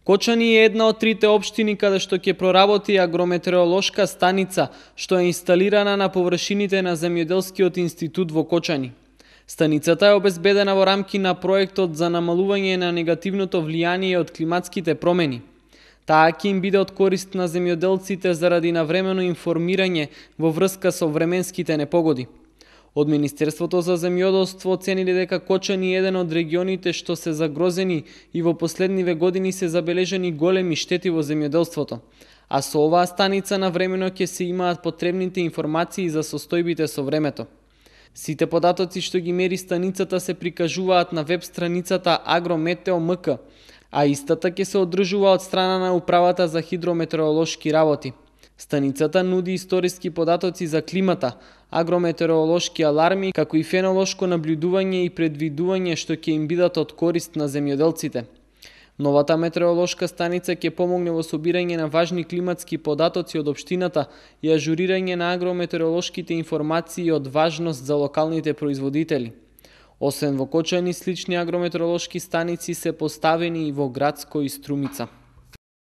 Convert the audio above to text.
Кочани е една од трите општини каде што ќе проработи агрометеоролошка станица, што е инсталирана на површините на Земјоделскиот институт во Кочани. Станицата е обезбедена во рамки на проектот за намалување на негативното влијание од климатските промени. Таа ќе им биде од корист на земјоделците заради навремено информирање во врска со временските непогоди. Од Министерството за земјоделство оцениле дека Кочани е еден од регионите што се загрозени и во последниве години се забележани големи штети во земјоделството, а со оваа станица навремено ќе се имаат потребните информации за состојбите со времето. Сите податоци што ги мери станицата се прикажуваат на веб страницата Agrometeo.mk, а истата ќе се одржува од страна на Управата за хидрометеоролошки работи. Станицата нуди историски податоци за климата, агрометеоролошки аларми, како и фенолошко набљудување и предвидување што ќе им бидат од корист на земјоделците. Новата метеоролошка станица ќе помогне во собирање на важни климатски податоци од општината и ажурирање на агрометеоролошките информации од важност за локалните производители. Освен во Кочани, слични агрометеоролошки станици се поставени и во Градско и Струмица.